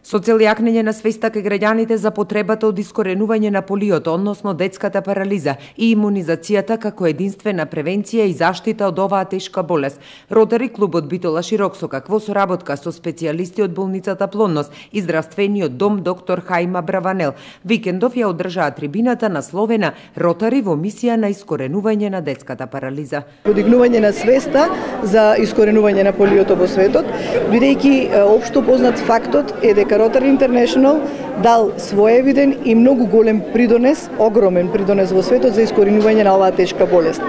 Со цел јакнење на свеста кај граѓаните за потребата од искоренување на полиото, односно детската парализа и имунизацијата како единствена превенција и заштита од оваа тешка болест, Ротари клубот Битола Широксокак во соработка со специјалисти од болницата Плодност и здравствениот дом доктор Хајма Браванел викендов ја одржаа трибината насловена Ротари во мисија на искоренување на детската парализа. Подигнување на свеста за искоренување на полиото во светот, бидејќи општо познат фактот е дека Rotary International дал своевиден и многу голем придонес, огромен придонес во светот за искоренување на оваа тешка болест.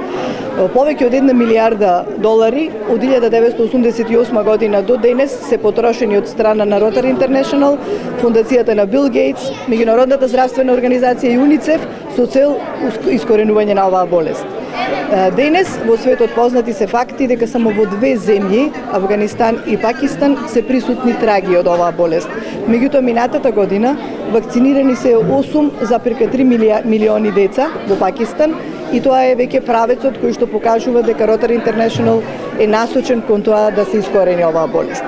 Повеќе од $1 милиарда од 1988 година до денес се потрошени од страна на Rotary International, фондацијата на Бил Гейтс, Меѓународната здравствена организација и УНИЦЕФ со цел искоренување на оваа болест. Денес во светот познати се факти дека само во две земји, Афганистан и Пакистан, се присутни траги од оваа болест. Меѓутоа минатата година вакцинирани се 8,3 милиони деца во Пакистан и тоа е веќе правецот кој што покажува дека Rotary International е насочен кон тоа да се искорени оваа болест.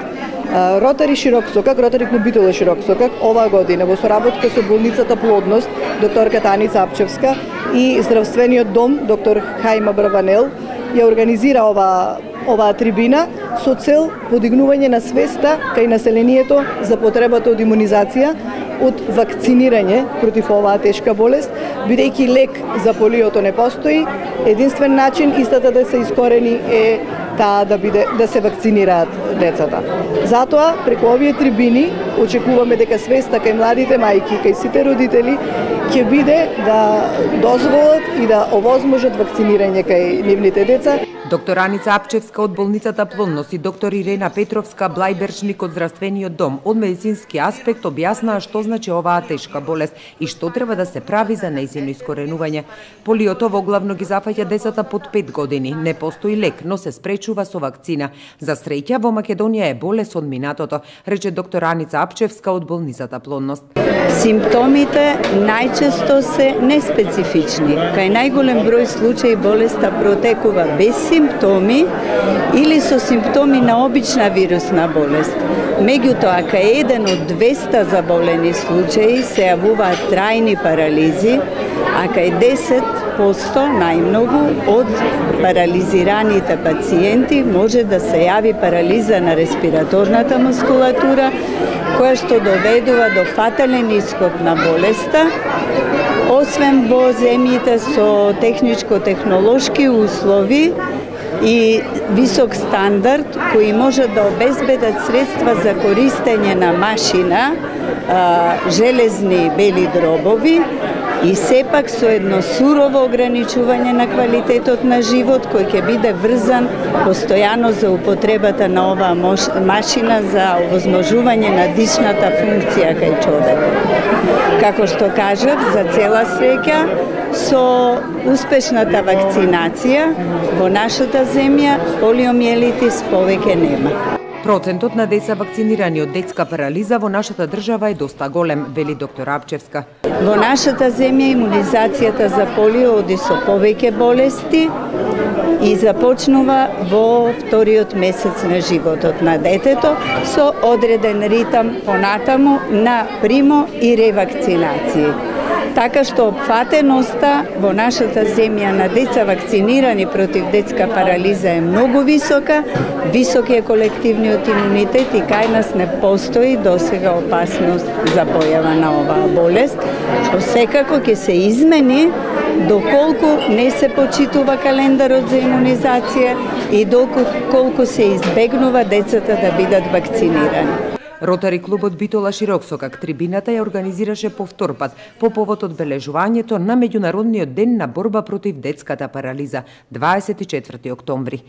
Ротари Широксокак, Ротари клуб Битола Широксокак, оваа година во соработка со болницата Плодност, докторка Таница Апчевска и здравствениот дом, доктор Хајма Браванел, ја организира оваа трибина со цел подигнување на свеста кај населението за потребата од имунизација, од вакцинирање против оваа тешка болест, бидејќи лек за полиото не постои, единствен начин истата да се искорени е таа да се вакцинираат децата. Затоа, преку овие трибини, очекуваме дека свеста кај младите мајки, кај сите родители, ќе биде да дозволат и да овозможат вакцинирање кај нивните деца. Доктор Аница Апчевска од болницата Плодност и доктор Ирена Петровска Блајбершник од здравствениот дом од медицински аспект објаснаа што значи оваа тешка болест и што треба да се прави за нејзино искоренување. Полиото воглавно ги зафаќа децата под 5 години. Не постои лек, но се спречува со вакцина. За среќа во Македонија е болест од минатото, рече доктор Аница Апчевска од болницата Плодност. Симптомите најчесто се неспецифични. Кај најголем број случаи болеста протекува без симптоми или со симптоми на обична вирусна болест. Меѓутоа, кај еден од 200 заболени случаи се јавуваат трајни парализи, а кај 10% најмногу од парализираните пациенти може да се јави парализа на респираторната мускулатура, која што доведува до фатален исход на болеста, освен во земјите со техничко-технолошки услови и висок стандард кои може да обезбедат средства за користење на машина, железни бели дробови и сепак со едно сурово ограничување на квалитетот на живот кој ќе биде врзан постојано за употребата на оваа машина за овозможување на дишната функција кај човекот. Како што кажав, за цела среќа, со успешната вакцинација во нашата земја полиомиелитис повеќе нема. Процентот на деца вакцинирани од детска парализа во нашата држава е доста голем, вели доктор Апчевска. Во нашата земја имунизацијата за полио оди со повеќе болести и започнува во вториот месец на животот на детето со одреден ритам понатаму на примо и ревакцинации. Така што опфатеноста во нашата земја на деца вакцинирани против детска парализа е многу висока, висок е колективниот имунитет и кај нас не постои досега опасност за појава на оваа болест, што секако ќе се измени доколку не се почитува календарот за имунизација и доколку се избегнува децата да бидат вакцинирани. Ротари клубот Битола Широксокак трибината ја организираше повтор пат по повод одбележувањето на Меѓународниот ден на борба против детската парализа 24 октомври.